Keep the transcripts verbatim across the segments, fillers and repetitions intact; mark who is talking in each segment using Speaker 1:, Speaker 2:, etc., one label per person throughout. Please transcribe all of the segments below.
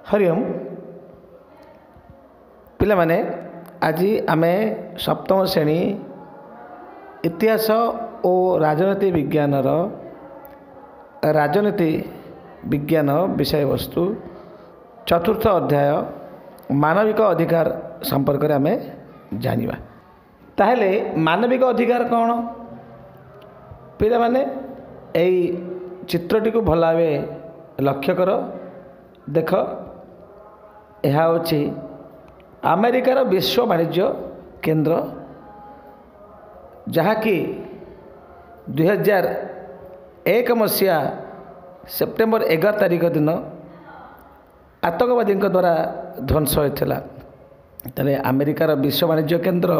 Speaker 1: ହରି ଓମ୍। ପିଲାମାନେ, ଆଜି ଆମେ ସପ୍ତମ ଶ୍ରେଣୀ ଇତିହାସ ଓ ରାଜନୀତି ବିଜ୍ଞାନର ରାଜନୀତି ବିଜ୍ଞାନ ବିଷୟବସ୍ତୁ ଚତୁର୍ଥ ଅଧ୍ୟାୟ ମାନବିକ ଅଧିକାର ସମ୍ପର୍କରେ ଆମେ ଜାଣିବା। ତାହେଲେ ମାନବିକ ଅଧିକାର କ'ଣ? ପିଲାମାନେ, ଏଇ ଚିତ୍ରଟିକୁ ଭଲ ଭାବେ ଲକ୍ଷ୍ୟ କର। ଦେଖ, ଏହା ହେଉଛି ଆମେରିକାର ବିଶ୍ୱ ବାଣିଜ୍ୟ କେନ୍ଦ୍ର, ଯାହାକି ଦୁଇହଜାର ଏକ ମସିହା ସେପ୍ଟେମ୍ବର ଏଗାର ତାରିଖ ଦିନ ଆତଙ୍କବାଦୀଙ୍କ ଦ୍ୱାରା ଧ୍ୱଂସ ହୋଇଥିଲା। ତାହେଲେ ଆମେରିକାର ବିଶ୍ୱ ବାଣିଜ୍ୟ କେନ୍ଦ୍ର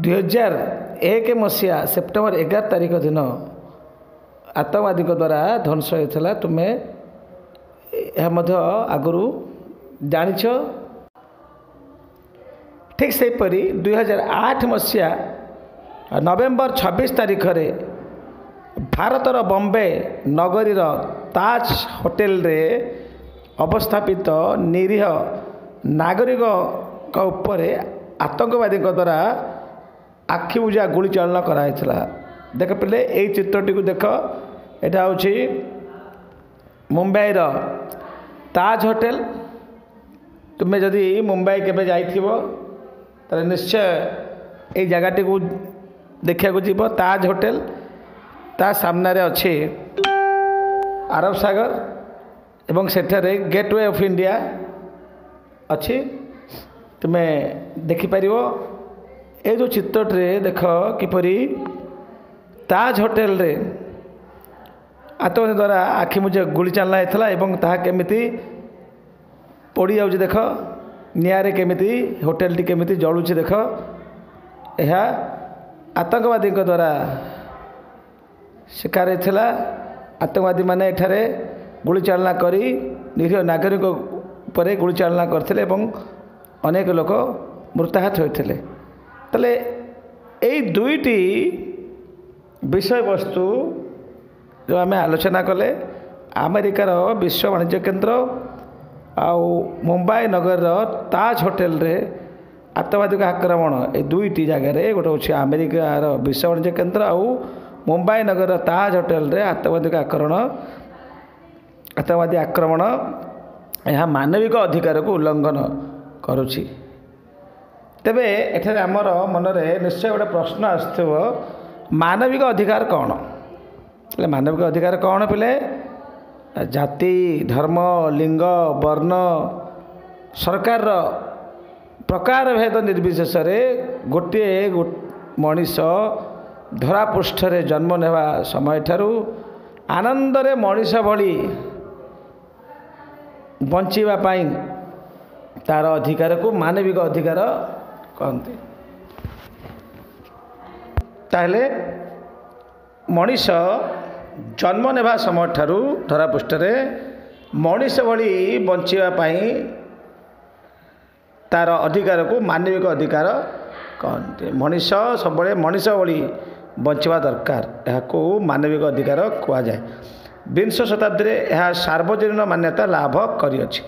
Speaker 1: ଦୁଇହଜାର ଏକ ମସିହା ସେପ୍ଟେମ୍ବର ଏଗାର ତାରିଖ ଦିନ ଆତଙ୍କବାଦୀଙ୍କ ଦ୍ୱାରା ଧ୍ୱଂସ ହୋଇଥିଲା। ତୁମେ ଏହା ମଧ୍ୟ ଆଗରୁ ଜାଣିଛ। ଠିକ୍ ସେହିପରି ଦୁଇହଜାର ଆଠ ମସିହା ନଭେମ୍ବର ଛବିଶ ତାରିଖରେ ଭାରତର ବମ୍ବେ ନଗରୀର ତାଜ ହୋଟେଲରେ ଅବସ୍ଥାପିତ ନିରୀହ ନାଗରିକଙ୍କ ଉପରେ ଆତଙ୍କବାଦୀଙ୍କ ଦ୍ୱାରା ଆଖିବୁଜା ଗୁଳିଚାଳନା କରାଯାଇଥିଲା। ଦେଖ ପିଲେ, ଏଇ ଚିତ୍ରଟିକୁ ଦେଖ। ଏଇଟା ହେଉଛି ମୁମ୍ବାଇର ତାଜ ହୋଟେଲ। ତୁମେ ଯଦି ମୁମ୍ବାଇ କେବେ ଯାଇଥିବ, ତାହେଲେ ନିଶ୍ଚୟ ଏଇ ଜାଗାଟିକୁ ଦେଖିବାକୁ ଯିବ, ତାଜ ହୋଟେଲ। ତା ସାମ୍ନାରେ ଅଛି ଆରବ ସାଗର ଏବଂ ସେଠାରେ ଗେଟୱେ ଅଫ୍ ଇଣ୍ଡିଆ ଅଛି, ତୁମେ ଦେଖିପାରିବ। ଏଇ ଯେଉଁ ଚିତ୍ରଟିରେ ଦେଖ, କିପରି ତାଜ ହୋଟେଲରେ ଆତଙ୍କବାଦୀ ଦ୍ୱାରା ଆଖି ମୁଜା ଗୁଳି ଚାଳନା ହେଇଥିଲା ଏବଂ ତାହା କେମିତି ପୋଡ଼ିଯାଉଛି ଦେଖ। ନିଆଁରେ କେମିତି ହୋଟେଲଟି କେମିତି ଜଳୁଛି ଦେଖ। ଏହା ଆତଙ୍କବାଦୀଙ୍କ ଦ୍ୱାରା ଶିକାର ହେଇଥିଲା। ଆତଙ୍କବାଦୀମାନେ ଏଠାରେ ଗୁଳିଚାଳନା କରି ନିରୀହ ନାଗରିକ ଉପରେ ଗୁଳିଚାଳନା କରିଥିଲେ ଏବଂ ଅନେକ ଲୋକ ମୃତାହତ ହୋଇଥିଲେ। ତାହେଲେ ଏଇ ଦୁଇଟି ବିଷୟବସ୍ତୁ ଯେଉଁ ଆମେ ଆଲୋଚନା କଲେ, ଆମେରିକାର ବିଶ୍ୱ ବାଣିଜ୍ୟ କେନ୍ଦ୍ର ଆଉ ମୁମ୍ବାଇ ନଗରର ତାଜ ହୋଟେଲରେ ଆତଙ୍କବାଦୀଙ୍କ ଆକ୍ରମଣ, ଏ ଦୁଇଟି ଜାଗାରେ, ଗୋଟେ ହେଉଛି ଆମେରିକାର ବିଶ୍ୱ ବାଣିଜ୍ୟ କେନ୍ଦ୍ର ଆଉ ମୁମ୍ବାଇ ନଗରର ତାଜ ହୋଟେଲରେ ଆତଙ୍କବାଦୀଙ୍କ ଆକ୍ରମଣ, ଆତଙ୍କବାଦୀ ଆକ୍ରମଣ, ଏହା ମାନବିକ ଅଧିକାରକୁ ଉଲ୍ଲଙ୍ଘନ କରୁଛି। ତେବେ ଏଠାରେ ଆମର ମନରେ ନିଶ୍ଚୟ ଗୋଟେ ପ୍ରଶ୍ନ ଆସୁଥିବ, ମାନବିକ ଅଧିକାର କ'ଣ? ହେଲେ ମାନବିକ ଅଧିକାର କ'ଣ ପିଲେ? ଜାତି, ଧର୍ମ, ଲିଙ୍ଗ, ବର୍ଣ୍ଣ, ସରକାରର ପ୍ରକାର ଭେଦ ନିର୍ବିଶେଷରେ ଗୋଟିଏ ମଣିଷ ଧରାପୃଷ୍ଠରେ ଜନ୍ମ ନେବା ସମୟଠାରୁ ଆନନ୍ଦରେ ମଣିଷ ଭଳି ବଞ୍ଚିବା ପାଇଁ ତା'ର ଅଧିକାରକୁ ମାନବିକ ଅଧିକାର କହନ୍ତି। ତାହେଲେ ମଣିଷ ଜନ୍ମ ନେବା ସମୟଠାରୁ ଧରାପୃଷ୍ଠରେ ମଣିଷ ଭଳି ବଞ୍ଚିବା ପାଇଁ ତା'ର ଅଧିକାରକୁ ମାନବିକ ଅଧିକାର କହନ୍ତି। ମଣିଷ ସବୁବେଳେ ମଣିଷ ଭଳି ବଞ୍ଚିବା ଦରକାର, ଏହାକୁ ମାନବିକ ଅଧିକାର କୁହାଯାଏ। ବିଂଶ ଶତାବ୍ଦୀରେ ଏହା ସାର୍ବଜନୀନ ମାନ୍ୟତା ଲାଭ କରିଅଛି।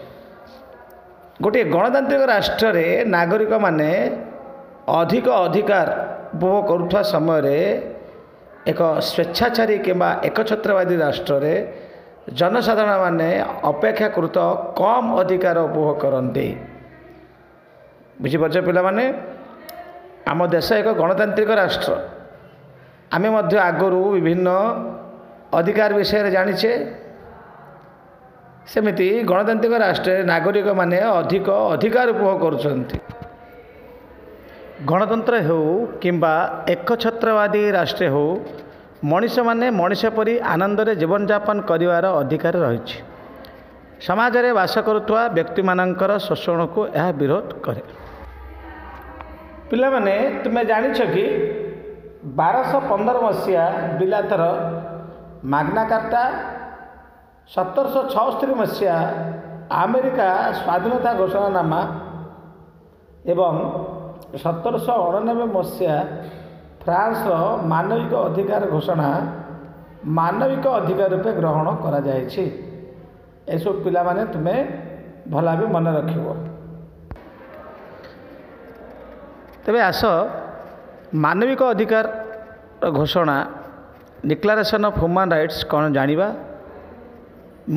Speaker 1: ଗୋଟିଏ ଗଣତାନ୍ତ୍ରିକ ରାଷ୍ଟ୍ରରେ ନାଗରିକମାନେ ଅଧିକ ଅଧିକାର ଉପଭୋଗ କରୁଥିବା ସମୟରେ ଏକ ସ୍ୱେଚ୍ଛାଚାରୀ କିମ୍ବା ଏକଛତ୍ରବାଦୀ ରାଷ୍ଟ୍ରରେ ଜନସାଧାରଣମାନେ ଅପେକ୍ଷାକୃତ କମ୍ ଅଧିକାର ଉପଭୋଗ କରନ୍ତି। ବୁଝିପାରୁଛ ପିଲାମାନେ? ଆମ ଦେଶ ଏକ ଗଣତାନ୍ତ୍ରିକ ରାଷ୍ଟ୍ର। ଆମେ ମଧ୍ୟ ଆଗରୁ ବିଭିନ୍ନ ଅଧିକାର ବିଷୟରେ ଜାଣିଛେ। ସେମିତି ଗଣତାନ୍ତ୍ରିକ ରାଷ୍ଟ୍ରରେ ନାଗରିକମାନେ ଅଧିକ ଅଧିକାର ଉପଭୋଗ କରୁଛନ୍ତି। ଗଣତନ୍ତ୍ର ହେଉ କିମ୍ବା ଏକଛତ୍ରବାଦୀ ରାଷ୍ଟ୍ର ହେଉ, ମଣିଷମାନେ ମଣିଷ ପରି ଆନନ୍ଦରେ ଜୀବନଯାପନ କରିବାର ଅଧିକାର ରହିଛି। ସମାଜରେ ବାସ କରୁଥିବା ବ୍ୟକ୍ତିମାନଙ୍କର ଶୋଷଣକୁ ଏହା ବିରୋଧ କରେ। ପିଲାମାନେ, ତୁମେ ଜାଣିଛ କି ବାରଶହ ପନ୍ଦର ମସିହା ବିଲାତର ମାଗ୍ନା କାର୍ଟା, ସତରଶହ ଛଅସ୍ତରୀ ମସିହା ଆମେରିକା ସ୍ୱାଧୀନତା ଘୋଷଣାନାମା ଏବଂ ସତରଶହ ଅଣାନବେ ମସିହା ଫ୍ରାନ୍ସର ମାନବିକ ଅଧିକାର ଘୋଷଣା ମାନବିକ ଅଧିକାର ରୂପେ ଗ୍ରହଣ କରାଯାଇଛି? ଏସବୁ ପିଲାମାନେ ତୁମେ ଭଲ ଭାବେ ମନେ ରଖିବ। ତେବେ ଆସ ମାନବିକ ଅଧିକାର ଘୋଷଣା, ଡିକ୍ଲାରେସନ୍ ଅଫ୍ ହ୍ୟୁମାନ୍ ରାଇଟ୍ସ କ'ଣ ଜାଣିବା।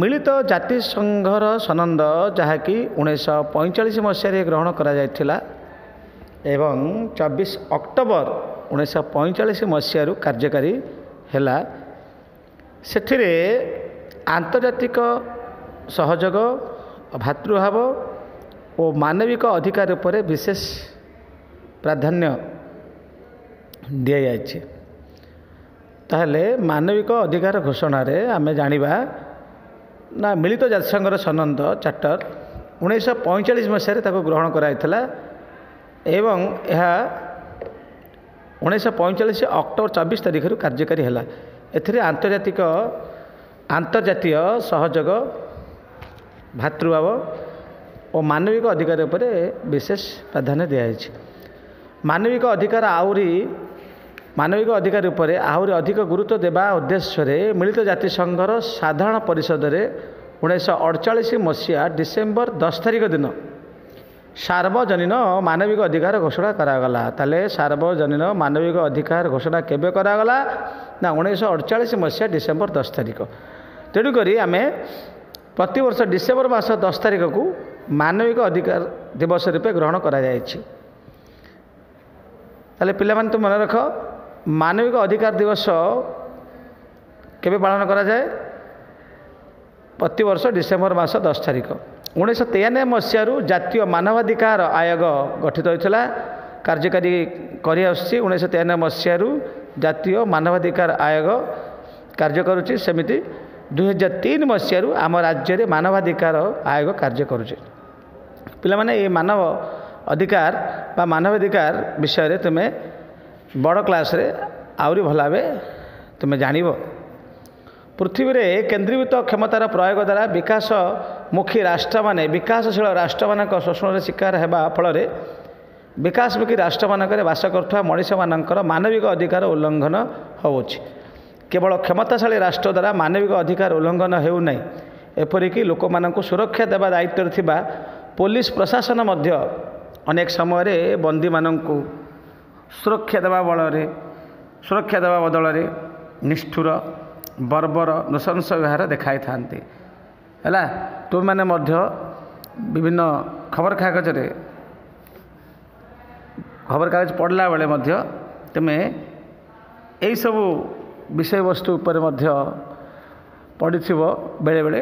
Speaker 1: ମିଳିତ ଜାତିସଂଘର ସନନ୍ଦ, ଯାହାକି ଉଣେଇଶହ ପଇଁଚାଳିଶ ମସିହାରେ ଗ୍ରହଣ କରାଯାଇଥିଲା ଏବଂ ଚବିଶ ଅକ୍ଟୋବର ଉଣେଇଶହ ପଇଁଚାଳିଶ ମସିହାରୁ କାର୍ଯ୍ୟକାରୀ ହେଲା, ସେଥିରେ ଆନ୍ତର୍ଜାତିକ ସହଯୋଗ, ଭାତୃଭାବ ଓ ମାନବିକ ଅଧିକାର ଉପରେ ବିଶେଷ ପ୍ରାଧାନ୍ୟ ଦିଆଯାଇଛି। ତାହେଲେ ମାନବିକ ଅଧିକାର ଘୋଷଣାରେ ଆମେ ଜାଣିବା ନା ମିଳିତ ଜାତିସଂଘର ସନନ୍ଦ ଚାର୍ଟର ଉଣେଇଶହ ପଇଁଚାଳିଶ ମସିହାରେ ତାକୁ ଗ୍ରହଣ କରାଯାଇଥିଲା ଏବଂ ଏହା ଉଣେଇଶହ ପଇଁଚାଳିଶ ଅକ୍ଟୋବର ଚବିଶ ତାରିଖରୁ କାର୍ଯ୍ୟକାରୀ ହେଲା। ଏଥିରେ ଆନ୍ତର୍ଜାତିକ ଆନ୍ତର୍ଜାତୀୟ ସହଯୋଗ, ଭାତୃଭାବ ଓ ମାନବିକ ଅଧିକାର ଉପରେ ବିଶେଷ ପ୍ରାଧାନ୍ୟ ଦିଆଯାଇଛି। ମାନବିକ ଅଧିକାର ଆହୁରି ମାନବିକ ଅଧିକାର ଉପରେ ଆହୁରି ଅଧିକ ଗୁରୁତ୍ୱ ଦେବା ଉଦ୍ଦେଶ୍ୟରେ ମିଳିତ ଜାତିସଂଘର ସାଧାରଣ ପରିଷଦରେ ଉଣେଇଶହ ଅଡ଼ଚାଳିଶ ମସିହା ଡିସେମ୍ବର ଦଶ ତାରିଖ ଦିନ ସାର୍ବଜନୀନ ମାନବିକ ଅଧିକାର ଘୋଷଣା କରାଗଲା। ତାହେଲେ ସାର୍ବଜନୀନ ମାନବିକ ଅଧିକାର ଘୋଷଣା କେବେ କରାଗଲା ନା ଉଣେଇଶହ ଅଡ଼ଚାଳିଶ ମସିହା ଡିସେମ୍ବର ଦଶ ତାରିଖ। ତେଣୁକରି ଆମେ ପ୍ରତିବର୍ଷ ଡିସେମ୍ବର ମାସ ଦଶ ତାରିଖକୁ ମାନବିକ ଅଧିକାର ଦିବସ ରୂପେ ଗ୍ରହଣ କରାଯାଇଛି। ତାହେଲେ ପିଲାମାନେ ତ ମନେ ରଖ, ମାନବିକ ଅଧିକାର ଦିବସ କେବେ ପାଳନ କରାଯାଏ? ପ୍ରତିବର୍ଷ ଡିସେମ୍ବର ମାସ ଦଶ ତାରିଖ। ଉଣେଇଶହ ତେୟାନବେ ମସିହାରୁ ଜାତୀୟ ମାନବାଧିକାର ଆୟୋଗ ଗଠିତ ହୋଇଥିଲା, କାର୍ଯ୍ୟକାରୀ କରିଆସୁଛି। ଉଣେଇଶହ ତେୟାନବେ ମସିହାରୁ ଜାତୀୟ ମାନବାଧିକାର ଆୟୋଗ କାର୍ଯ୍ୟ କରୁଛି। ସେମିତି ଦୁଇହଜାର ତିନି ମସିହାରୁ ଆମ ରାଜ୍ୟରେ ମାନବାଧିକାର ଆୟୋଗ କାର୍ଯ୍ୟ କରୁଛି। ପିଲାମାନେ, ଏ ମାନବ ଅଧିକାର ବା ମାନବାଧିକାର ବିଷୟରେ ତୁମେ ବଡ଼ କ୍ଲାସ୍ରେ ଆହୁରି ଭଲ ଭାବେ ତୁମେ ଜାଣିବ। ପୃଥିବୀରେ କେନ୍ଦ୍ରୀଭୂତ କ୍ଷମତାର ପ୍ରୟୋଗ ଦ୍ୱାରା ବିକାଶମୁଖୀ ରାଷ୍ଟ୍ରମାନେ ବିକାଶଶୀଳ ରାଷ୍ଟ୍ରମାନଙ୍କ ଶୋଷଣର ଶିକାର ହେବା ଫଳରେ ବିକାଶମୁଖୀ ରାଷ୍ଟ୍ରମାନଙ୍କରେ ବାସ କରୁଥିବା ମଣିଷମାନଙ୍କର ମାନବିକ ଅଧିକାର ଉଲ୍ଲଂଘନ ହେଉଛି। କେବଳ କ୍ଷମତାଶାଳୀ ରାଷ୍ଟ୍ର ଦ୍ୱାରା ମାନବିକ ଅଧିକାର ଉଲ୍ଲଂଘନ ହେଉନାହିଁ, ଏପରିକି ଲୋକମାନଙ୍କୁ ସୁରକ୍ଷା ଦେବା ଦାୟିତ୍ୱରେ ଥିବା ପୋଲିସ ପ୍ରଶାସନ ମଧ୍ୟ ଅନେକ ସମୟରେ ବନ୍ଦୀମାନଙ୍କୁ ସୁରକ୍ଷା ଦେବା ବଳରେ ସୁରକ୍ଷା ଦେବା ବଦଳରେ ନିଷ୍ଠୁର, ବର୍ବର, ନୃଶଂସ ବ୍ୟବହାର ଦେଖାଇଥାନ୍ତି। ହେଲା, ତୁମେମାନେ ମଧ୍ୟ ବିଭିନ୍ନ ଖବରକାଗଜରେ ଖବରକାଗଜ ପଢ଼ିଲା ବେଳେ ମଧ୍ୟ ତୁମେ ଏଇସବୁ ବିଷୟବସ୍ତୁ ଉପରେ ମଧ୍ୟ ପଢ଼ିଥିବ ବେଳେବେଳେ।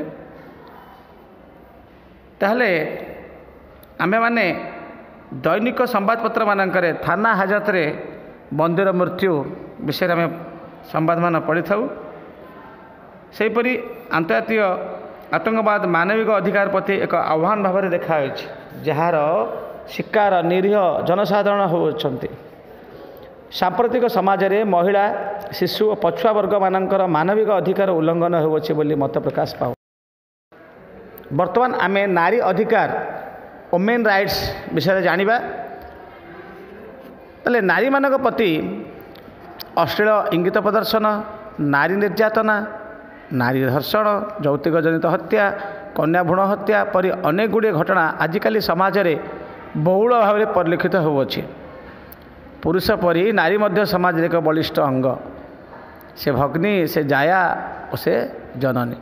Speaker 1: ତାହେଲେ ଆମେମାନେ ଦୈନିକ ସମ୍ବାଦପତ୍ରମାନଙ୍କରେ ଥାନା ହାଜତରେ ବନ୍ଦୀର ମୃତ୍ୟୁ ବିଷୟରେ ଆମେ ସମ୍ବାଦମାନ ପଢ଼ିଥାଉ। ସେହିପରି ଆନ୍ତର୍ଜାତୀୟ ଆତଙ୍କବାଦ ମାନବିକ ଅଧିକାର ପ୍ରତି ଏକ ଆହ୍ୱାନ ଭାବରେ ଦେଖାଯାଇଛି, ଯାହାର ଶିକାର ନିରୀହ ଜନସାଧାରଣ ହେଉଛନ୍ତି। ସାମ୍ପ୍ରତିକ ସମାଜରେ ମହିଳା, ଶିଶୁ ଓ ପଛୁଆ ବର୍ଗମାନଙ୍କର ମାନବିକ ଅଧିକାର ଉଲ୍ଲଂଘନ ହେଉଅଛି ବୋଲି ମତ ପ୍ରକାଶ ପାଉ। ବର୍ତ୍ତମାନ ଆମେ ନାରୀ ଅଧିକାର, ଓମେନ୍ ରାଇଟ୍ସ ବିଷୟରେ ଜାଣିବା। ତାହେଲେ ନାରୀମାନଙ୍କ ପ୍ରତି ଅଶ୍ଳୀଳ ଇଙ୍ଗିତ ପ୍ରଦର୍ଶନ, ନାରୀ ନିର୍ଯାତନା, ନାରୀ ଧର୍ଷଣ, ଯୌତୁକ ଜନିତ ହତ୍ୟା, କନ୍ୟା ଭ୍ରୂଣ ହତ୍ୟା ପରି ଅନେକ ଗୁଡ଼ିଏ ଘଟଣା ଆଜିକାଲି ସମାଜରେ ବହୁଳ ଭାବରେ ପରିଲକ୍ଷିତ ହେଉଅଛି। ପୁରୁଷ ପରି ନାରୀ ମଧ୍ୟ ସମାଜରେ ଏକ ବଳିଷ୍ଠ ଅଙ୍ଗ। ସେ ଭଗ୍ନୀ, ସେ ଜାୟା ଓ ସେ ଜନନୀ।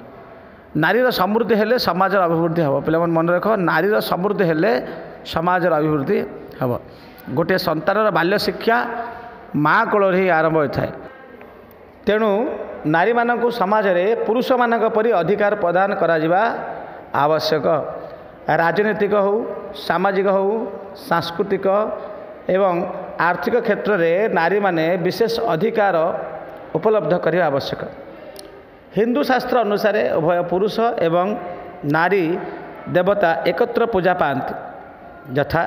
Speaker 1: ନାରୀର ସମୃଦ୍ଧି ହେଲେ ସମାଜର ଅଭିବୃଦ୍ଧି ହେବ। ପିଲାମାନେ ମନେ ରଖ, ନାରୀର ସମୃଦ୍ଧି ହେଲେ ସମାଜର ଅଭିବୃଦ୍ଧି ହେବ। ଗୋଟିଏ ସନ୍ତାନର ବାଲ୍ୟ ଶିକ୍ଷା ମା କୋଳରେ ହିଁ ଆରମ୍ଭ ହୋଇଥାଏ। ତେଣୁ ନାରୀମାନଙ୍କୁ ସମାଜରେ ପୁରୁଷମାନଙ୍କ ପରି ଅଧିକାର ପ୍ରଦାନ କରାଯିବା ଆବଶ୍ୟକ। ରାଜନୈତିକ ହେଉ, ସାମାଜିକ ହେଉ, ସାଂସ୍କୃତିକ ଏବଂ ଆର୍ଥିକ କ୍ଷେତ୍ରରେ ନାରୀମାନେ ବିଶେଷ ଅଧିକାର ଉପଲବ୍ଧ କରିବା ଆବଶ୍ୟକ। ହିନ୍ଦୁ ଶାସ୍ତ୍ର ଅନୁସାରେ ଉଭୟ ପୁରୁଷ ଏବଂ ନାରୀ ଦେବତା ଏକତ୍ର ପୂଜା ପାଆନ୍ତି, ଯଥା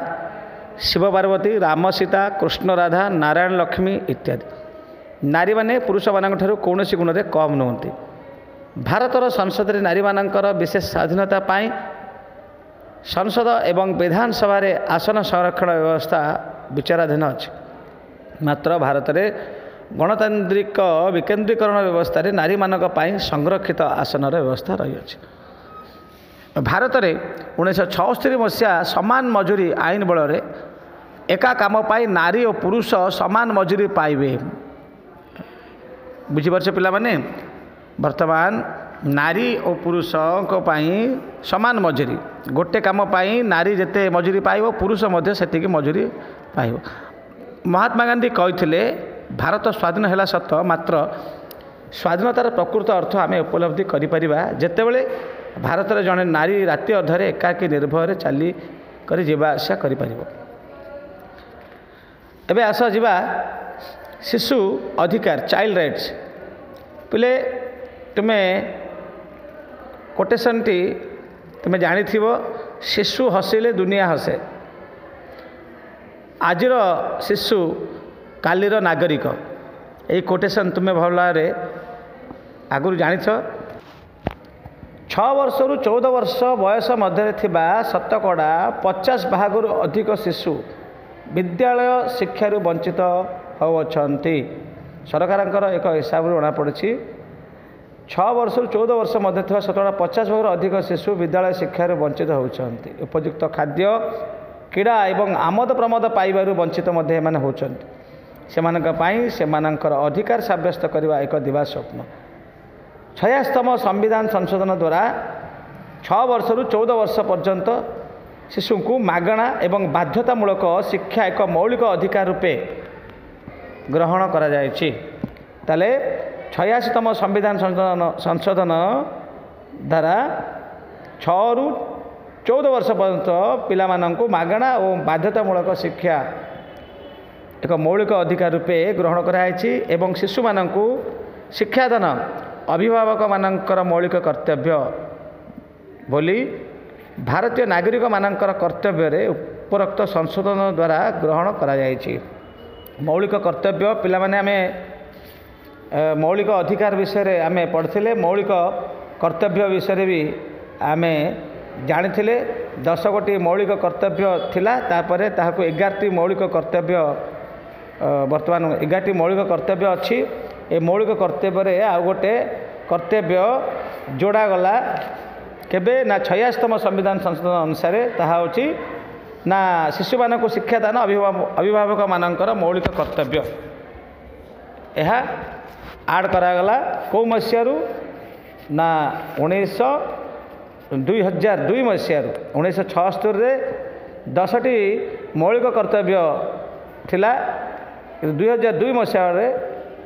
Speaker 1: ଶିବ ପାର୍ବତୀ, ରାମ ସୀତା, କୃଷ୍ଣ ରାଧା, ନାରାୟଣ ଲକ୍ଷ୍ମୀ ଇତ୍ୟାଦି। ନାରୀମାନେ ପୁରୁଷମାନଙ୍କ ଠାରୁ କୌଣସି ଗୁଣରେ କମ୍ ନୁହନ୍ତି। ଭାରତର ସଂସଦରେ ନାରୀମାନଙ୍କର ବିଶେଷ ସ୍ୱାଧୀନତା ପାଇଁ ସଂସଦ ଏବଂ ବିଧାନସଭାରେ ଆସନ ସଂରକ୍ଷଣ ବ୍ୟବସ୍ଥା ବିଚାରାଧୀନ ଅଛି। ମାତ୍ର ଭାରତରେ ଗଣତାନ୍ତ୍ରିକ ବିକେନ୍ଦ୍ରୀକରଣ ବ୍ୟବସ୍ଥାରେ ନାରୀମାନଙ୍କ ପାଇଁ ସଂରକ୍ଷିତ ଆସନର ବ୍ୟବସ୍ଥା ରହିଅଛି। ଭାରତରେ ଉଣେଇଶହ ଛଅସ୍ତରୀ ମସିହା ସମାନ ମଜୁରୀ ଆଇନ ବଳରେ ଏକା କାମ ପାଇଁ ନାରୀ ଓ ପୁରୁଷ ସମାନ ମଜୁରୀ ପାଇବେ। ବୁଝିପାରୁଛ ପିଲାମାନେ? ବର୍ତ୍ତମାନ ନାରୀ ଓ ପୁରୁଷଙ୍କ ପାଇଁ ସମାନ ମଜୁରୀ, ଗୋଟେ କାମ ପାଇଁ ନାରୀ ଯେତେ ମଜୁରୀ ପାଇବ ପୁରୁଷ ମଧ୍ୟ ସେତିକି ମଜୁରୀ ପାଇବ। ମହାତ୍ମା ଗାନ୍ଧୀ କହିଥିଲେ, ଭାରତ ସ୍ୱାଧୀନ ହେଲା ସତ, ମାତ୍ର ସ୍ୱାଧୀନତାର ପ୍ରକୃତ ଅର୍ଥ ଆମେ ଉପଲବ୍ଧି କରିପାରିବା ଯେତେବେଳେ ଭାରତରେ ଜଣେ ନାରୀ ରାତି ଅଧରେ ଏକାକୀ ନିର୍ଭୟରେ ଚାଲି କରି ଯିବା ଆସିବା କରିପାରିବ। ଏବେ ଆସ ଯିବା ଶିଶୁ ଅଧିକାର, ଚାଇଲ୍ଡ ରାଇଟ୍ସ। ପିଲେ, ତୁମେ କୋଟେସନ୍ଟି ତୁମେ ଜାଣିଥିବ, ଶିଶୁ ହସିଲେ ଦୁନିଆ ହସେ। ଆଜିର ଶିଶୁ କାଲିର ନାଗରିକ। ଏଇ କୋଟେସନ୍ ତୁମେ ଭଲ ଭାବରେ ଆଗରୁ ଜାଣିଛ। ଛଅ ବର୍ଷରୁ ଚଉଦ ବର୍ଷ ବୟସ ମଧ୍ୟରେ ଥିବା ଶତକଡ଼ା ପଚାଶ ଭାଗରୁ ଅଧିକ ଶିଶୁ ବିଦ୍ୟାଳୟ ଶିକ୍ଷାରୁ ବଞ୍ଚିତ ହେଉଅଛନ୍ତି। ସରକାରଙ୍କର ଏକ ହିସାବରୁ ଜଣାପଡ଼ିଛି, ଛଅ ବର୍ଷରୁ ଚଉଦ ବର୍ଷ ମଧ୍ୟରେ ଥିବା ଶତକଡ଼ା ପଚାଶ ଭାଗରୁ ଅଧିକ ଶିଶୁ ବିଦ୍ୟାଳୟ ଶିକ୍ଷାରୁ ବଞ୍ଚିତ ହେଉଛନ୍ତି। ଉପଯୁକ୍ତ ଖାଦ୍ୟ, କ୍ରୀଡ଼ା ଏବଂ ଆମୋଦ ପ୍ରମୋଦ ପାଇବାରୁ ବଞ୍ଚିତ ମଧ୍ୟ ଏମାନେ ହେଉଛନ୍ତି। ସେମାନଙ୍କ ପାଇଁ ସେମାନଙ୍କର ଅଧିକାର ସାବ୍ୟସ୍ତ କରିବା ଏକ ଦିବା ସ୍ୱପ୍ନ। ଛୟାସ୍ତମ ସମ୍ବିଧାନ ସଂଶୋଧନ ଦ୍ୱାରା ଛଅ ବର୍ଷରୁ ଚଉଦ ବର୍ଷ ପର୍ଯ୍ୟନ୍ତ ଶିଶୁଙ୍କୁ ମାଗଣା ଏବଂ ବାଧ୍ୟତାମୂଳକ ଶିକ୍ଷା ଏକ ମୌଳିକ ଅଧିକାର ରୂପେ ଗ୍ରହଣ କରାଯାଇଛି। ତାହେଲେ ଛୟାଅଶୀତମ ସମ୍ବିଧାନ ସଂଶୋଧନ ସଂଶୋଧନ ଦ୍ୱାରା ଛଅରୁ ଚଉଦ ବର୍ଷ ପର୍ଯ୍ୟନ୍ତ ପିଲାମାନଙ୍କୁ ମାଗଣା ଓ ବାଧ୍ୟତାମୂଳକ ଶିକ୍ଷା ଏକ ମୌଳିକ ଅଧିକାର ରୂପେ ଗ୍ରହଣ କରାଯାଇଛି ଏବଂ ଶିଶୁମାନଙ୍କୁ ଶିକ୍ଷାଦାନ ଅଭିଭାବକମାନଙ୍କର ମୌଳିକ କର୍ତ୍ତବ୍ୟ ବୋଲି ଭାରତୀୟ ନାଗରିକମାନଙ୍କର କର୍ତ୍ତବ୍ୟରେ ଉପରୋକ୍ତ ସଂଶୋଧନ ଦ୍ୱାରା ଗ୍ରହଣ କରାଯାଇଛି। ମୌଳିକ କର୍ତ୍ତବ୍ୟ ପିଲାମାନେ, ଆମେ ମୌଳିକ ଅଧିକାର ବିଷୟରେ ଆମେ ପଢ଼ିଥିଲେ, ମୌଳିକ କର୍ତ୍ତବ୍ୟ ବିଷୟରେ ବି ଆମେ ଜାଣିଥିଲେ। ଦଶ ଗୋଟି ମୌଳିକ କର୍ତ୍ତବ୍ୟ ଥିଲା, ତାପରେ ତାହାକୁ ଏଗାରଟି ମୌଳିକ କର୍ତ୍ତବ୍ୟ, ବର୍ତ୍ତମାନ ଏଗାରଟି ମୌଳିକ କର୍ତ୍ତବ୍ୟ ଅଛି। ଏ ମୌଳିକ କର୍ତ୍ତବ୍ୟରେ ଆଉ ଗୋଟେ କର୍ତ୍ତବ୍ୟ ଯୋଡ଼ାଗଲା କେବେ ନା ଛୟାଅଶୀତମ ସମ୍ବିଧାନ ସଂଶୋଧନ ଅନୁସାରେ, ତାହା ହେଉଛି ନା ଶିଶୁମାନଙ୍କୁ ଶିକ୍ଷାଦାନ ଅଭିଭାବକମାନଙ୍କର ମୌଳିକ କର୍ତ୍ତବ୍ୟ। ଏହା ଆଡ଼୍ କରାଗଲା କେଉଁ ମସିହାରୁ ନା ଉଣେଇଶହ ଦୁଇ ହଜାର ଦୁଇ ମସିହାରୁ। ଉଣେଇଶହ ଛଅସ୍ତରୀରେ ଦଶଟି ମୌଳିକ କର୍ତ୍ତବ୍ୟ ଥିଲା, କିନ୍ତୁ ଦୁଇ ହଜାର ଦୁଇ ମସିହାରେ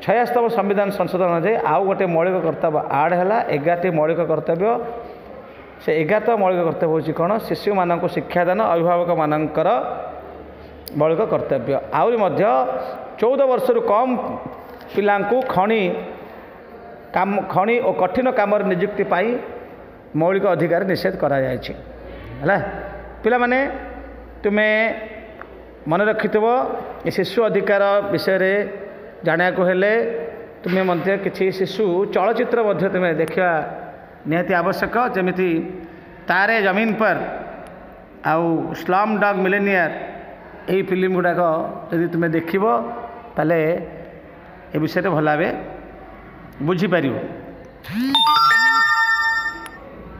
Speaker 1: ଛୟାଅଶୀତମ ସମ୍ବିଧାନ ସଂଶୋଧନ ଅନୁଯାୟୀ ଆଉ ଗୋଟେ ମୌଳିକ କର୍ତ୍ତବ୍ୟ ଆଡ଼୍ ହେଲା, ଏଗାରଟି ମୌଳିକ କର୍ତ୍ତବ୍ୟ। ସେ ଏଗାରଟ ମୌଳିକ କର୍ତ୍ତବ୍ୟ ହେଉଛି କ'ଣ? ଶିଶୁମାନଙ୍କୁ ଶିକ୍ଷାଦାନ ଅଭିଭାବକମାନଙ୍କର ମୌଳିକ କର୍ତ୍ତବ୍ୟ। ଆହୁରି ମଧ୍ୟ ଚଉଦ ବର୍ଷରୁ କମ୍ ପିଲାଙ୍କୁ ଖଣି କାମ, ଖଣି ଓ କଠିନ କାମରେ ନିଯୁକ୍ତି ପାଇଁ ମୌଳିକ ଅଧିକାର ନିଷେଧ କରାଯାଇଛି। ହେଲା ପିଲାମାନେ, ତୁମେ ମନେ ରଖିଥିବ ଏ ଶିଶୁ ଅଧିକାର ବିଷୟରେ ଜାଣିବାକୁ ହେଲେ ତୁମେ ମଧ୍ୟ କିଛି ଶିଶୁ ଚଳଚ୍ଚିତ୍ର ମଧ୍ୟ ତୁମେ ଦେଖିବା ନିହାତି ଆବଶ୍ୟକ, ଯେମିତି ତାରେ ଜମିନ ପର ଆଉ ସ୍ଲମ୍ ଡଗ୍ ମିଲେନିୟର। ଏଇ ଫିଲ୍ମ ଗୁଡ଼ାକ ଯଦି ତୁମେ ଦେଖିବ ତାହେଲେ ଏ ବିଷୟରେ ଭଲ ଭାବେ ବୁଝିପାରିବ।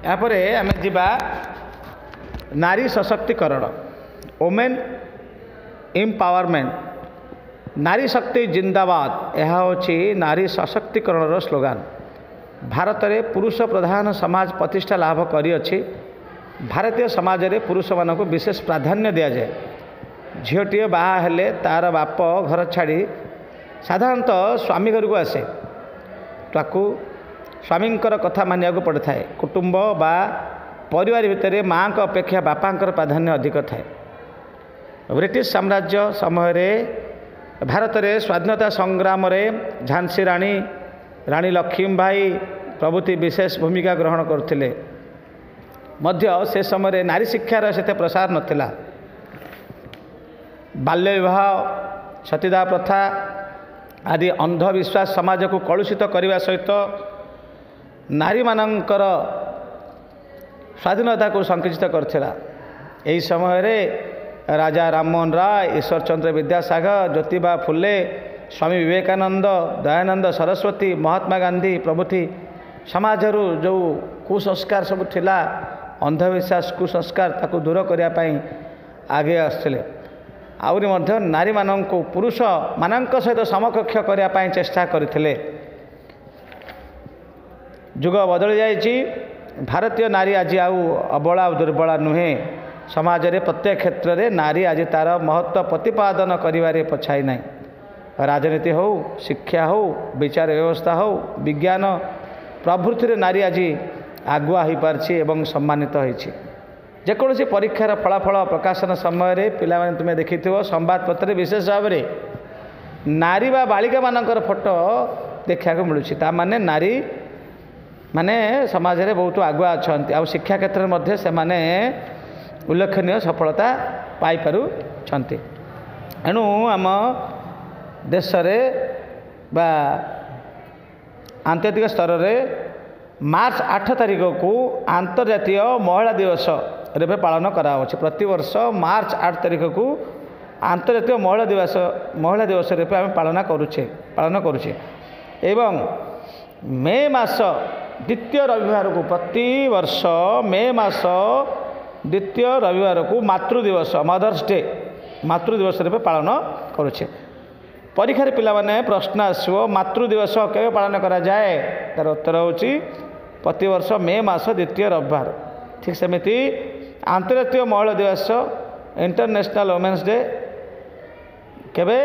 Speaker 1: ଏହାପରେ ଆମେ ଯିବା ନାରୀ ସଶକ୍ତିକରଣ, ଓମେନ୍ ଏମ୍ପାୱାରମେଣ୍ଟ। ନାରୀ ଶକ୍ତି ଜିନ୍ଦାବାଦ, ଏହା ହେଉଛି ନାରୀ ସଶକ୍ତିକରଣର ସ୍ଲୋଗାନ। ଭାରତରେ ପୁରୁଷ ପ୍ରଧାନ ସମାଜ ପ୍ରତିଷ୍ଠା ଲାଭ କରିଅଛି। ଭାରତୀୟ ସମାଜରେ ପୁରୁଷମାନଙ୍କୁ ବିଶେଷ ପ୍ରାଧାନ୍ୟ ଦିଆଯାଏ। ଝିଅଟିଏ ବାହା ହେଲେ ତା'ର ବାପ ଘର ଛାଡ଼ି ସାଧାରଣତଃ ସ୍ୱାମୀ ଘରକୁ ଆସେ। ତାକୁ ସ୍ୱାମୀଙ୍କର କଥା ମାନିବାକୁ ପଡ଼ିଥାଏ। କୁଟୁମ୍ବ ବା ପରିବାର ଭିତରେ ମାଆଙ୍କ ଅପେକ୍ଷା ବାପାଙ୍କର ପ୍ରାଧାନ୍ୟ ଅଧିକ ଥାଏ। ବ୍ରିଟିଶ ସାମ୍ରାଜ୍ୟ ସମୟରେ ଭାରତରେ ସ୍ୱାଧୀନତା ସଂଗ୍ରାମରେ ଝାନ୍ସୀ ରାଣୀ, ରାଣୀ ଲକ୍ଷ୍ମୀବାଇ ପ୍ରଭୃତି ବିଶେଷ ଭୂମିକା ଗ୍ରହଣ କରୁଥିଲେ ମଧ୍ୟ ସେ ସମୟରେ ନାରୀ ଶିକ୍ଷାର ସେତେ ପ୍ରସାର ନଥିଲା। ବାଲ୍ୟ ବିବାହ, ସତୀଦାହ ପ୍ରଥା ଆଦି ଅନ୍ଧବିଶ୍ୱାସ ସମାଜକୁ କଳୁଷିତ କରିବା ସହିତ ନାରୀମାନଙ୍କର ସ୍ୱାଧୀନତାକୁ ସଂକୁଚିତ କରିଥିଲା। ଏହି ସମୟରେ ରାଜା ରାମମୋହନ ରାୟ, ଈଶ୍ୱରଚନ୍ଦ୍ର ବିଦ୍ୟାସାଗର, ଜ୍ୟୋତିବା ଫୁଲେ, ସ୍ୱାମୀ ବିବେକାନନ୍ଦ, ଦୟାନନ୍ଦ ସରସ୍ୱତୀ, ମହାତ୍ମା ଗାନ୍ଧୀ ପ୍ରଭୃତି ସମାଜରୁ ଯେଉଁ କୁସଂସ୍କାର ସବୁ ଥିଲା, ଅନ୍ଧବିଶ୍ୱାସ, କୁସଂସ୍କାର ତାକୁ ଦୂର କରିବା ପାଇଁ ଆଗେଇ ଆସୁଥିଲେ। ଆହୁରି ମଧ୍ୟ ନାରୀମାନଙ୍କୁ ପୁରୁଷମାନଙ୍କ ସହିତ ସମକକ୍ଷ କରିବା ପାଇଁ ଚେଷ୍ଟା କରିଥିଲେ। ଯୁଗ ବଦଳି ଯାଇଛି। ଭାରତୀୟ ନାରୀ ଆଜି ଆଉ ଅବଳା ଆଉ ଦୁର୍ବଳା ନୁହେଁ। ସମାଜରେ ପ୍ରତ୍ୟେକ କ୍ଷେତ୍ରରେ ନାରୀ ଆଜି ତା'ର ମହତ୍ତ୍ୱ ପ୍ରତିପାଦନ କରିବାରେ ପଛାଇ ନାହିଁ। ରାଜନୀତି ହେଉ, ଶିକ୍ଷା ହେଉ, ବିଚାର ବ୍ୟବସ୍ଥା ହେଉ, ବିଜ୍ଞାନ ପ୍ରଭୃତିରେ ନାରୀ ଆଜି ଆଗୁଆ ହୋଇପାରିଛି ଏବଂ ସମ୍ମାନିତ ହୋଇଛି। ଯେକୌଣସି ପରୀକ୍ଷାର ଫଳାଫଳ ପ୍ରକାଶନ ସମୟରେ ପିଲାମାନେ ତୁମେ ଦେଖିଥିବ, ସମ୍ବାଦପତ୍ରରେ ବିଶେଷ ଭାବରେ ନାରୀ ବା ବାଳିକାମାନଙ୍କର ଫଟୋ ଦେଖିବାକୁ ମିଳୁଛି। ତା ମାନେ ନାରୀ ମାନେ ସମାଜରେ ବହୁତ ଆଗୁଆ ଅଛନ୍ତି ଆଉ ଶିକ୍ଷା କ୍ଷେତ୍ରରେ ମଧ୍ୟ ସେମାନେ ଉଲ୍ଲେଖନୀୟ ସଫଳତା ପାଇପାରୁଛନ୍ତି। ଏଣୁ ଆମ ଦେଶରେ ବା ଆନ୍ତର୍ଜାତିକ ସ୍ତରରେ ମାର୍ଚ୍ଚ ଆଠ ତାରିଖକୁ ଆନ୍ତର୍ଜାତୀୟ ମହିଳା ଦିବସ ରୂପେ ପାଳନ କରାଯାଉଛି। ପ୍ରତିବର୍ଷ ମାର୍ଚ୍ଚ ଆଠ ତାରିଖକୁ ଆନ୍ତର୍ଜାତୀୟ ମହିଳା ଦିବସ ମହିଳା ଦିବସ ରୂପେ ଆମେ ପାଳନ କରୁଛେ ପାଳନ କରୁଛେ ଏବଂ ମେ ମାସ ଦ୍ୱିତୀୟ ରବିବାରକୁ, ପ୍ରତିବର୍ଷ ମେ ମାସ ଦ୍ୱିତୀୟ ରବିବାରକୁ ମାତୃ ଦିବସ, ମଦର୍ସ ଡେ, ମାତୃ ଦିବସ ରୂପେ ପାଳନ କରୁଛେ। ପରୀକ୍ଷାରେ ପିଲାମାନେ ପ୍ରଶ୍ନ ଆସିବ, ମାତୃ ଦିବସ କେବେ ପାଳନ କରାଯାଏ? ତା'ର ଉତ୍ତର ହେଉଛି ପ୍ରତିବର୍ଷ ମେ ମାସ ଦ୍ୱିତୀୟ ରବିବାର। ଠିକ୍ ସେମିତି ଆନ୍ତର୍ଜାତୀୟ ମହିଳା ଦିବସ, ଇଣ୍ଟରନ୍ୟାସନାଲ୍ ଓମେନ୍ସ ଡେ କେବେ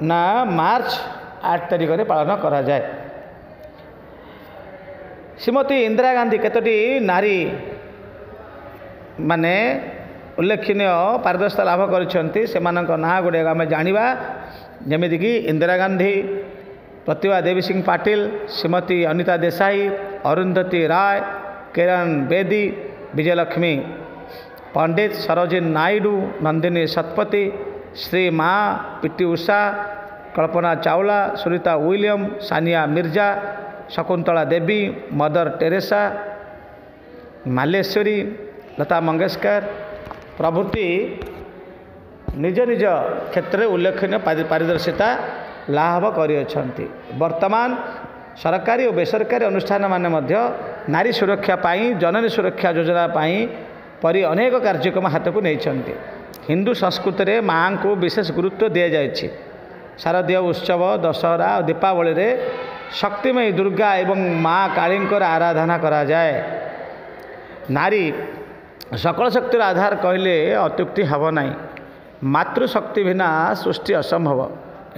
Speaker 1: ନା ମାର୍ଚ୍ଚ ଆଠ ତାରିଖରେ ପାଳନ କରାଯାଏ। ଶ୍ରୀମତୀ ଇନ୍ଦିରା ଗାନ୍ଧୀ କେତୋଟି ନାରୀ ମାନେ ଉଲ୍ଲେଖନୀୟ ପାରିଦର୍ଶିତା ଲାଭ କରିଛନ୍ତି, ସେମାନଙ୍କ ନାଁ ଗୁଡ଼ିକ ଆମେ ଜାଣିବା। ଯେମିତିକି ଇନ୍ଦିରା ଗାନ୍ଧୀ, ପ୍ରତିଭା ଦେବୀ ସିଂ ପାଟିଲ, ଶ୍ରୀମତୀ ଅନିତା ଦେଶାଇ, ଅରୁନ୍ଧତୀ ରାୟ, କିରଣ ବେଦୀ, ବିଜୟଲକ୍ଷ୍ମୀ ପଣ୍ଡିତ, ସରୋଜିନୀ ନାଇଡୁ, ନନ୍ଦିନୀ ଶତପଥୀ, ଶ୍ରୀ ମା, P T Usha, Kalpana Chawla, Sunita William, Sania Mirza, Shakuntala Devi, Mother Teresa, Malleswari, Lata Mangeshkar ପ୍ରଭୃତି ନିଜ ନିଜ କ୍ଷେତ୍ରରେ ଉଲ୍ଲେଖନୀୟ ପାରିଦର୍ଶିତା ଲାଭ କରିଅଛନ୍ତି। ବର୍ତ୍ତମାନ ସରକାରୀ ଓ ବେସରକାରୀ ଅନୁଷ୍ଠାନମାନେ ମଧ୍ୟ ନାରୀ ସୁରକ୍ଷା ପାଇଁ, ଜନନୀ ସୁରକ୍ଷା ଯୋଜନା ପାଇଁ ପରି ଅନେକ କାର୍ଯ୍ୟକ୍ରମ ହାତକୁ ନେଇଛନ୍ତି। ହିନ୍ଦୁ ସଂସ୍କୃତିରେ ମାଆଙ୍କୁ ବିଶେଷ ଗୁରୁତ୍ୱ ଦିଆଯାଇଛି। ଶାରଦୀୟ ଉତ୍ସବ, ଦଶହରା ଓ ଦୀପାବଳିରେ ଶକ୍ତିମୟୀ ଦୁର୍ଗା ଏବଂ ମା କାଳୀଙ୍କର ଆରାଧନା କରାଯାଏ। ନାରୀ ସକଳ ଶକ୍ତିର ଆଧାର କହିଲେ ଅତ୍ୟୁକ୍ତି ହେବ ନାହିଁ। ମାତୃଶକ୍ତି ବିନା ସୃଷ୍ଟି ଅସମ୍ଭବ।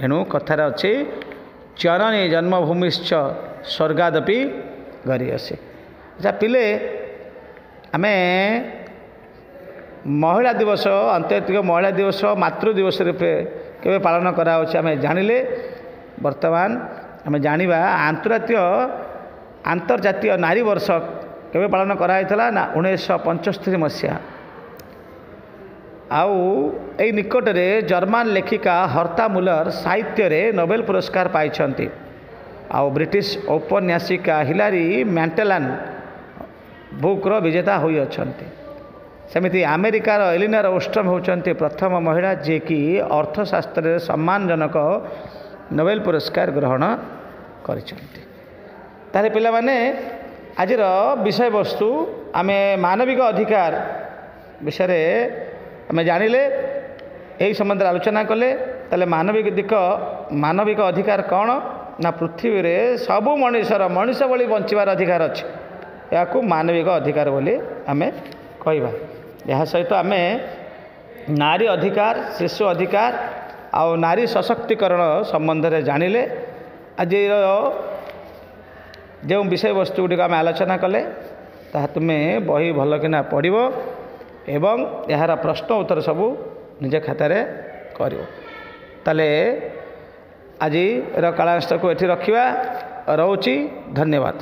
Speaker 1: ଏଣୁ କଥାରେ ଅଛି, ଜନନୀ ଜନ୍ମଭୂମିଶ୍ଚ ସ୍ୱର୍ଗାଦପି ଗରୀୟସୀ। ଆଚ୍ଛା ପିଲେ, ଆମେ ମହିଳା ଦିବସ, ଆନ୍ତର୍ଜାତିକ ମହିଳା ଦିବସ, ମାତୃ ଦିବସ ରୂପେ କେବେ ପାଳନ କରାଯାଉଛି ଆମେ ଜାଣିଲେ। ବର୍ତ୍ତମାନ ଆମେ ଜାଣିବା ଆନ୍ତର୍ଜାତୀୟ ଆନ୍ତର୍ଜାତୀୟ ନାରୀ ବର୍ଷ କେବେ ପାଳନ କରାଯାଇଥିଲା ନା ଉଣେଇଶହ ପଞ୍ଚସ୍ତରୀ ମସିହା। ଆଉ ଏଇ ନିକଟରେ ଜର୍ମାନ ଲେଖିକା ହର୍ତା ମୁଲର ସାହିତ୍ୟରେ ନୋବେଲ ପୁରସ୍କାର ପାଇଛନ୍ତି। ଆଉ ବ୍ରିଟିଶ ଔପନ୍ୟାସିକା ହିଲାରୀ ମ୍ୟାଣ୍ଟେଲାନ୍ ବୁକ୍ର ବିଜେତା ହୋଇଅଛନ୍ତି। ସେମିତି ଆମେରିକାର ଏଲିନର ଓଷ୍ଟ୍ରମ୍ ହେଉଛନ୍ତି ପ୍ରଥମ ମହିଳା ଯିଏକି ଅର୍ଥଶାସ୍ତ୍ରରେ ସମ୍ମାନଜନକ ନୋବେଲ ପୁରସ୍କାର ଗ୍ରହଣ କରିଛନ୍ତି। ତାହେଲେ ପିଲାମାନେ, ଆଜିର ବିଷୟବସ୍ତୁ ଆମେ ମାନବିକ ଅଧିକାର ବିଷୟରେ ଆମେ ଜାଣିଲେ, ଏହି ସମ୍ବନ୍ଧରେ ଆଲୋଚନା କଲେ। ତାହେଲେ ମାନବିକ ଦିକ ମାନବିକ ଅଧିକାର କ'ଣ ନା ପୃଥିବୀରେ ସବୁ ମଣିଷର ମଣିଷ ଭଳି ବଞ୍ଚିବାର ଅଧିକାର ଅଛି, ଏହାକୁ ମାନବିକ ଅଧିକାର ବୋଲି ଆମେ କହିବା। ଏହା ସହିତ ଆମେ ନାରୀ ଅଧିକାର, ଶିଶୁ ଅଧିକାର ଆଉ ନାରୀ ସଶକ୍ତିକରଣ ସମ୍ବନ୍ଧରେ ଜାଣିଲେ। ଆଜିର ଯେଉଁ ବିଷୟବସ୍ତୁ ଗୁଡ଼ିକ ଆମେ ଆଲୋଚନା କଲେ ତାହା ତୁମେ ବହି ଭଲକିନା ପଢ଼ିବ ଏବଂ ଏହାର ପ୍ରଶ୍ନ ଉତ୍ତର ସବୁ ନିଜ ଖାତାରେ କରିବ। ତାହେଲେ ଆଜିର କାଳାଂଶକୁ ଏଠି ରଖିବା। ରହୁଛି, ଧନ୍ୟବାଦ।